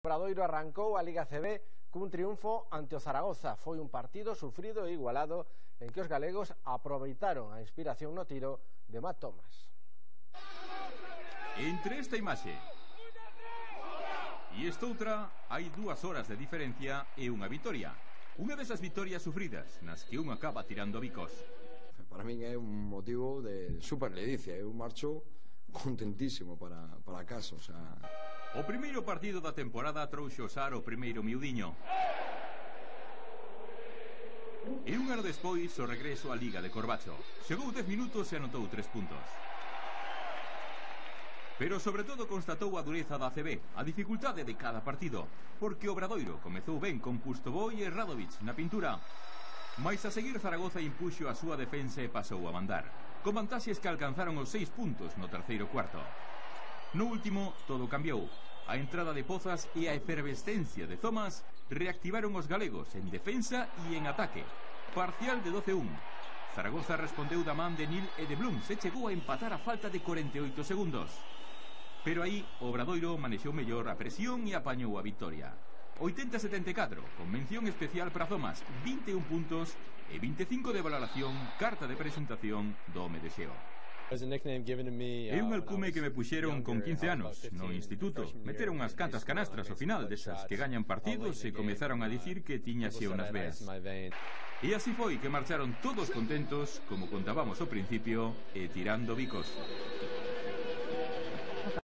Obradoiro arrancou a Liga CB cun triunfo ante o Zaragoza. Foi un partido sufrido e igualado en que os galegos aproveitaron a inspiración no tiro de Matt Thomas. Entre esta imaxe e esta outra hai 2 horas de diferencia e unha vitoria. Unha desas vitorias sufridas nas que un acaba tirando bicos. Para min é un motivo de super ledicia. Eu marcho contentísimo para casa, o sea... O primeiro partido da temporada trouxo Sar o primeiro miudiño. E un ano despois o regreso á Liga de Corbacho. Chegou 10 minutos e anotou 3 puntos. Pero sobre todo constatou a dureza da ACB, a dificultade de cada partido, porque Obradoiro comezou ben con Pustoboi e Radovic na pintura. Mais a seguir Zaragoza impuxo a súa defensa e pasou a mandar, con vantaxes que alcanzaron os 6 puntos no terceiro cuarto. No último, todo cambiou. A entrada de Pozas e a efervescencia de Thomas reactivaron os galegos en defensa e en ataque. Parcial de 12-1. Zaragoza respondeu da man de Nil e de Blum, se chegou a empatar a falta de 48 segundos. Pero aí, Obradoiro manexou mellor a presión e apañou a victoria. 80-74, con mención especial para Thomas, 21 puntos e 25 de valoración, carta de presentación do home de Xeo. É un alcume que me puxeron con 15 anos, no instituto. Meteron unhas cantas canastras ao final, desas que gañan partidos, e comezaron a dicir que tiña Xeo nas veas. E así foi que marcharon todos contentos, como contábamos ao principio, e tirando bicos.